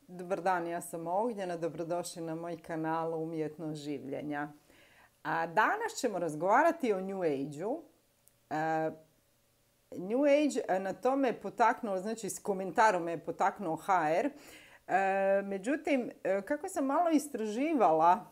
Dobar dan, ja sam Ognjena, dobrodošli na moj kanal Umjetnost življenja. A danas ćemo razgovarati o New Age-u. New Age na to me potaknuo, znači s komentarom me je potaknuo HR. Međutim, kako sam malo istraživala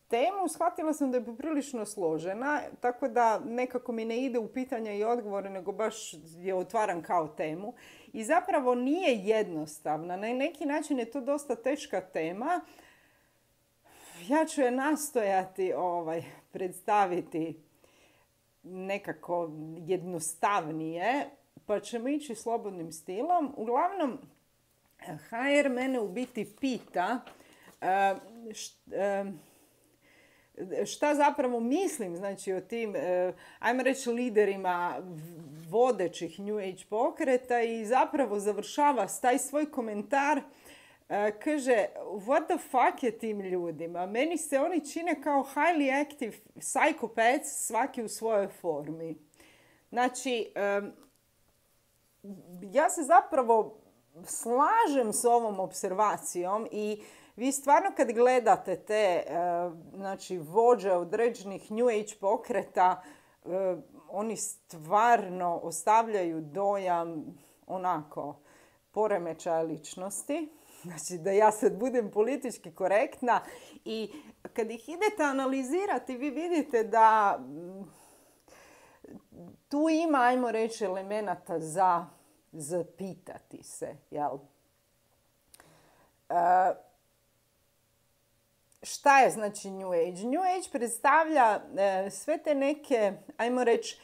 temu, shvatila sam da je poprilično složena, tako da nekako mi ne ide u pitanja i odgovore, nego baš je otvaram kao temu. I zapravo nije jednostavna. Na neki način je to dosta teška tema. Ja ću je nastojati predstaviti nekako jednostavnije, pa ćemo ići slobodnim stilom. Uglavnom, HR mene u biti pita šta zapravo mislim, znači, o tim, ajmo reći, liderima vodećih New Age pokreta i zapravo završava taj svoj komentar. Kaže, what the fuck je tim ljudima? Meni se oni čine kao highly active psychopaths, svaki u svojoj formi. Znači, ja se zapravo slažem s ovom observacijom i vi stvarno kad gledate te znači, vođe određenih New Age pokreta, oni stvarno ostavljaju dojam onako poremećaja ličnosti. Znači da ja sad budem politički korektna i kad ih idete analizirati vi vidite da tu ima, ajmo reći, elemenata za zapitati se, jel? Šta je znači New Age? New Age predstavlja sve te neke, ajmo reći,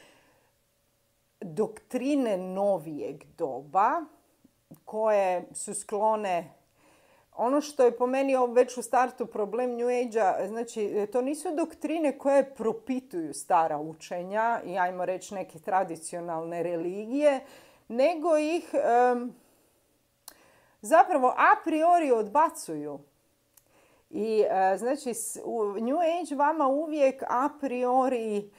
doktrine novijeg doba koje su sklone. Ono što je po meni već u startu problem New Age-a, znači to nisu doktrine koje propituju stara učenja i ajmo reći neke tradicionalne religije, nego ih zapravo a priori odbacuju. I znači New Age vama uvijek a priori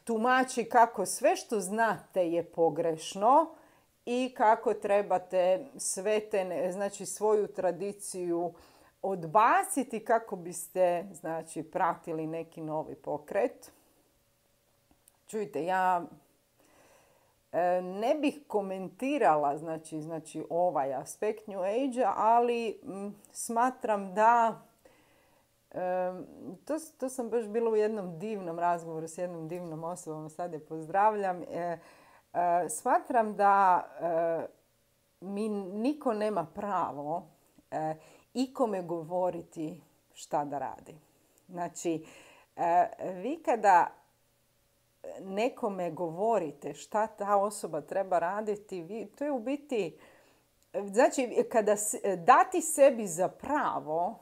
tumači kako sve što znate je pogrešno i kako trebate sve te, znači svoju tradiciju odbaciti kako biste, znači, pratili neki novi pokret. Čujte, ja ne bih komentirala znači ovaj aspekt New Age-a, ali smatram da to sam baš bila u jednom divnom razgovoru s jednom divnom osobom, sad je pozdravljam. Smatram da mi niko nema pravo ikome govoriti šta da radi. Znači, vi kada nekome govorite šta ta osoba treba raditi, to je u biti, znači, kada dati sebi za pravo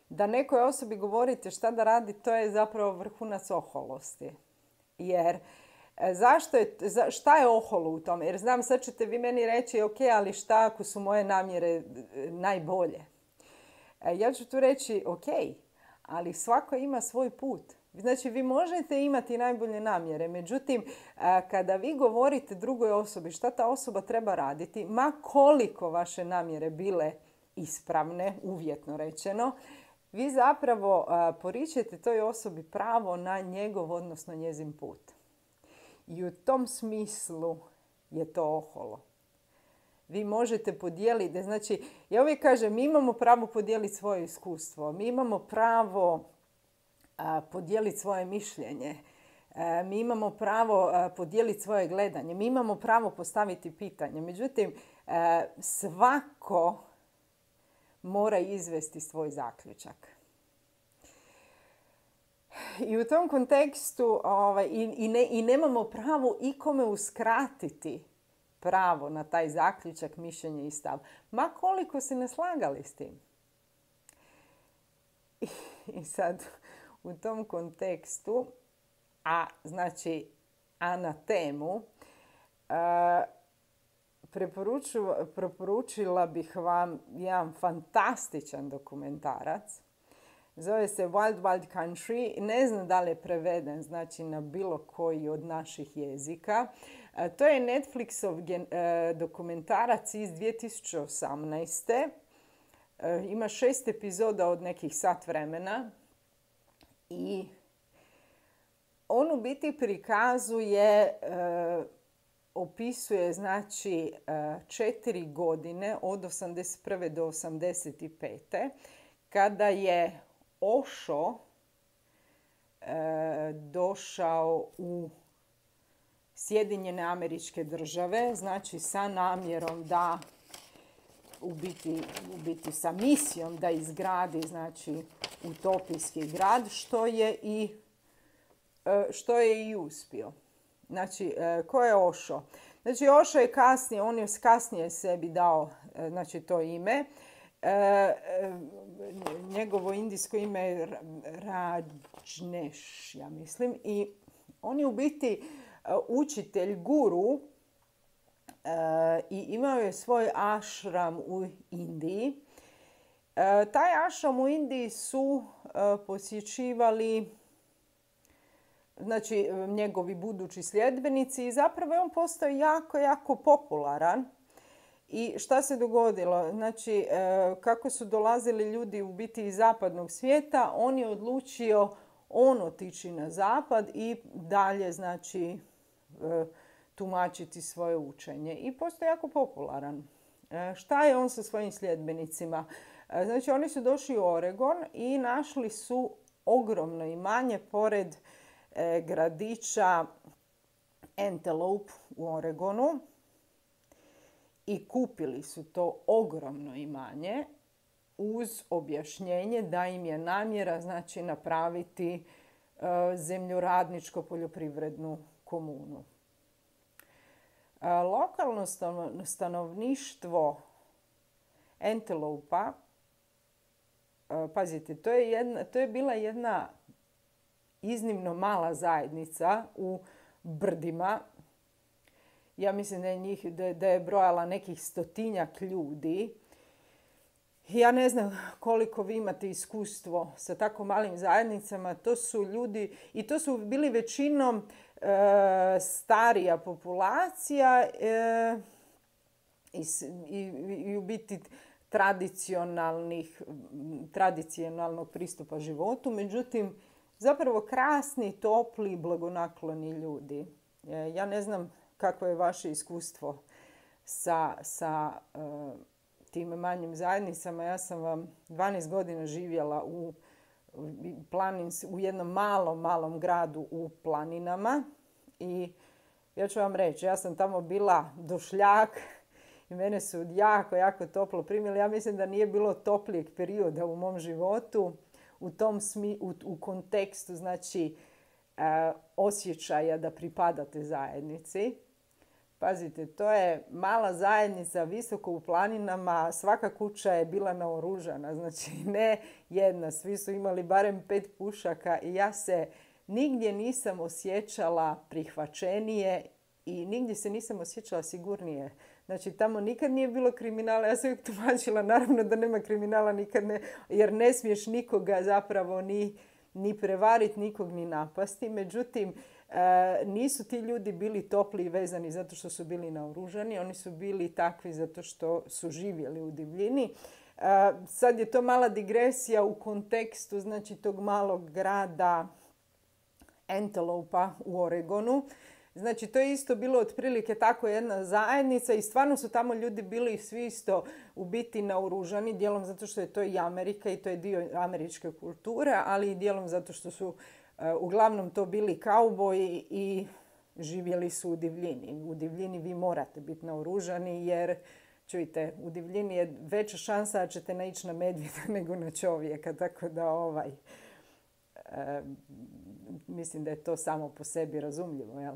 da nekoj osobi govorite šta da radi, to je zapravo vrhunac oholosti. Jer šta je oholo u tome? Jer znam, sad ćete vi meni reći, ok, ali šta ako su moje namjere najbolje? Ja ću tu reći, ok, ali svako ima svoj put. Znači, vi možete imati najbolje namjere, međutim, kada vi govorite drugoj osobi šta ta osoba treba raditi, ma koliko vaše namjere bile ispravne, uvjetno rečeno, vi zapravo poričete toj osobi pravo na njegov, odnosno njezin put. I u tom smislu je to oholo. Vi možete podijeliti, znači, ja uvijek kažem, mi imamo pravo podijeliti svoje iskustvo, mi imamo pravo podijeliti svoje mišljenje, mi imamo pravo podijeliti svoje gledanje, mi imamo pravo postaviti pitanje. Međutim, svako mora izvesti svoj zaključak. I u tom kontekstu i nemamo pravo ikome uskratiti pravo na taj zaključak, mišljenje i stav. Ma koliko se ne slagali s tim. I sad u tom kontekstu, a na temu, preporučila bih vam jedan fantastičan dokumentarac. Zove se Wild Wild Country. Ne znam da li je preveden, znači, na bilo koji od naših jezika. To je Netflixov dokumentarac iz 2018. Ima 6 epizoda od nekih sat vremena i on u biti prikazuje, opisuje znači 4 godine od 81. do 85. kada je Osho došao u Sjedinjene Američke Države, znači sa namjerom da u biti sa misijom da izgradi znači utopijski grad, što je i uspio. Znači, ko je Osho? Znači, Osho je kasnije, on je kasnije sebi dao znači, to ime. Njegovo indijsko ime je Rajneesh, ja mislim. I on je u biti učitelj, guru i imao je svoj ashram u Indiji. Taj ashram u Indiji su posjećivali znači njegovi budući sljedbenici i zapravo je on postao jako, jako popularan. I šta se dogodilo? Znači, kako su dolazili ljudi u biti iz zapadnog svijeta, on je odlučio otići na zapad i dalje, znači, tumačiti svoje učenje. I postao jako popularan. Šta je on sa svojim sljedbenicima? Znači, oni su došli u Oregon i našli su ogromno imanje pored gradića Antelope u Oregonu i kupili su to ogromno imanje uz objašnjenje da im je namjera znači napraviti zemljoradničko poljoprivrednu komunu. Lokalno stanovništvo Antelope-a, pazite, to je bila jedna iznimno mala zajednica u brdima. Ja mislim da je brojala nekih 100-tinjak ljudi. Ja ne znam koliko vi imate iskustvo sa tako malim zajednicama. To su ljudi, i to su bili većinom starija populacija i u biti tradicionalnog pristupa životu. Međutim, zapravo krasni, topli, blagonakloni ljudi. Ja ne znam kakvo je vaše iskustvo sa tim manjim zajednicama. Ja sam vam 12 godina živjela u jednom malom gradu u planinama i ja ću vam reći, ja sam tamo bila došljak i mene su jako, jako toplo primili. Ja mislim da nije bilo toplijeg perioda u mom životu u kontekstu znači osjećaja da pripadate zajednici. Pazite, to je mala zajednica visoko u planinama, svaka kuća je bila naoružana, znači ne jedna, svi su imali barem 5 pušaka i ja se nigdje nisam osjećala prihvaćenije i nigdje se nisam osjećala sigurnije. Znači, tamo nikad nije bilo kriminala. Ja sam uvijek tumačila, naravno da nema kriminala nikad ne, jer ne smiješ nikoga zapravo ni prevariti, nikog ni napasti. Međutim, nisu ti ljudi bili topli i vezani zato što su bili naoružani. Oni su bili takvi zato što su živjeli u divljini. Sad je to mala digresija u kontekstu znači, tog malog grada Antelope-a u Oregonu. Znači, to je isto bilo otprilike tako jedna zajednica i stvarno su tamo ljudi bili svi isto u biti naoružani, dijelom zato što je to i Amerika i to je dio američke kulture, ali i dijelom zato što su uglavnom to bili kauboji i živjeli su u divljini. U divljini vi morate biti naoružani jer, čujte, u divljini je veća šansa da ćete naići na medvjeda nego na čovjeka, tako da mislim da je to samo po sebi razumljivo, jel?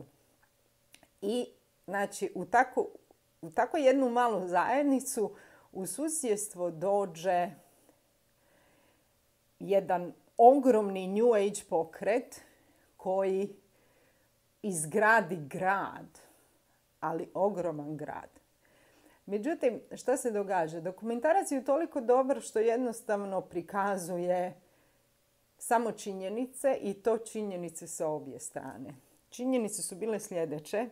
I znači u tako jednu malu zajednicu u susjedstvo dođe jedan ogromni New Age pokret koji izgradi grad, ali ogroman grad. Međutim, šta se događa? Dokumentarac je toliko dobar što jednostavno prikazuje samo činjenice i to činjenice sa obje strane. Činjenice su bile sljedeće.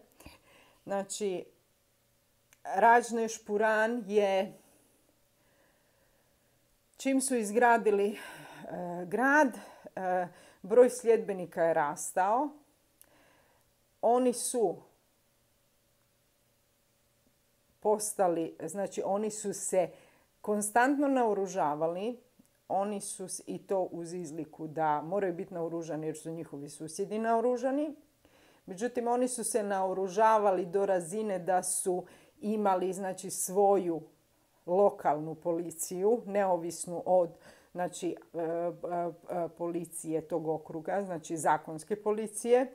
Znači, Rajnešpuran je, čim su izgradili grad, broj sljedbenika je rastao. Oni su postali, znači oni su se konstantno naoružavali, oni su, i to uz izliku da moraju biti naoružani jer su njihovi susjedi naoružani. Međutim, oni su se naoružavali do razine da su imali, znači, svoju lokalnu policiju, neovisnu od, znači, policije tog okruga, znači zakonske policije.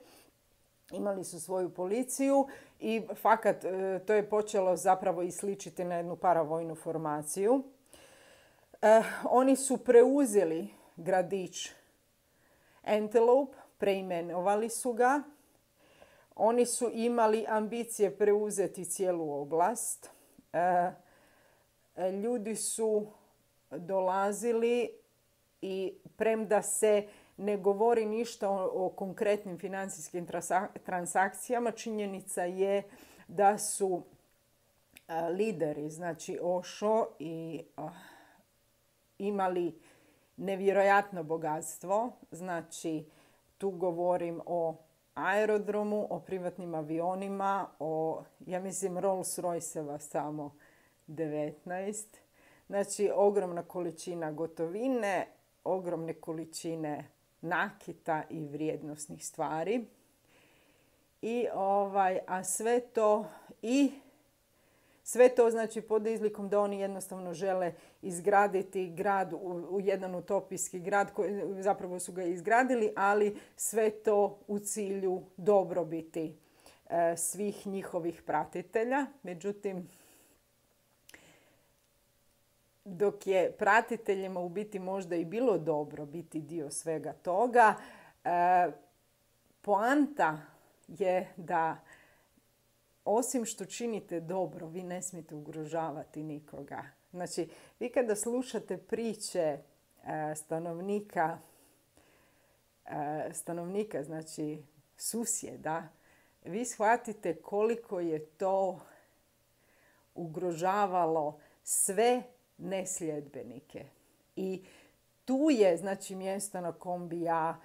Imali su svoju policiju i fakat to je počelo zapravo i sličiti na jednu paravojnu formaciju. Oni su preuzeli gradić Antelope, preimenovali su ga. Oni su imali ambicije preuzeti cijelu oblast. Ljudi su dolazili i premda se ne govori ništa o konkretnim financijskim transakcijama, činjenica je da su lideri, znači Osho, i imali nevjerojatno bogatstvo. Znači, tu govorim o aerodromu, o privatnim avionima, o, ja mislim, Rolls-Royceva samo 19. Znači, ogromna količina gotovine, ogromne količine nakita i vrijednosnih stvari. A sve to znači pod izlikom da oni jednostavno žele izgraditi grad, u jedan utopijski grad, zapravo su ga izgradili, ali sve to u cilju dobrobiti svih njihovih pratitelja. Međutim, dok je pratiteljima u biti možda i bilo dobro biti dio svega toga, poanta je da osim što činite dobro, vi ne smijete ugrožavati nikoga. Znači, vi kada slušate priče stanovnika, znači susjeda, vi shvatite koliko je to ugrožavalo sve nesljedbenike. I tu je, znači, mjesto na kom bi ja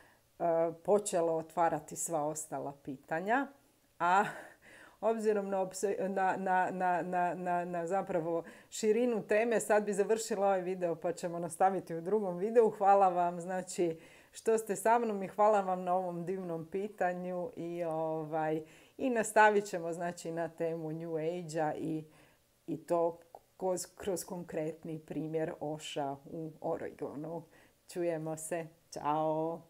počela otvarati sva ostala pitanja, a obzirom na zapravo širinu teme, sad bi završila ovaj video pa ćemo nastaviti u drugom videu. Hvala vam, znači, što ste sa mnom i hvala vam na ovom divnom pitanju i nastavit ćemo, znači, na temu New Age-a i to kroz konkretni primjer Osha u Oregonu. Čujemo se. Ćao!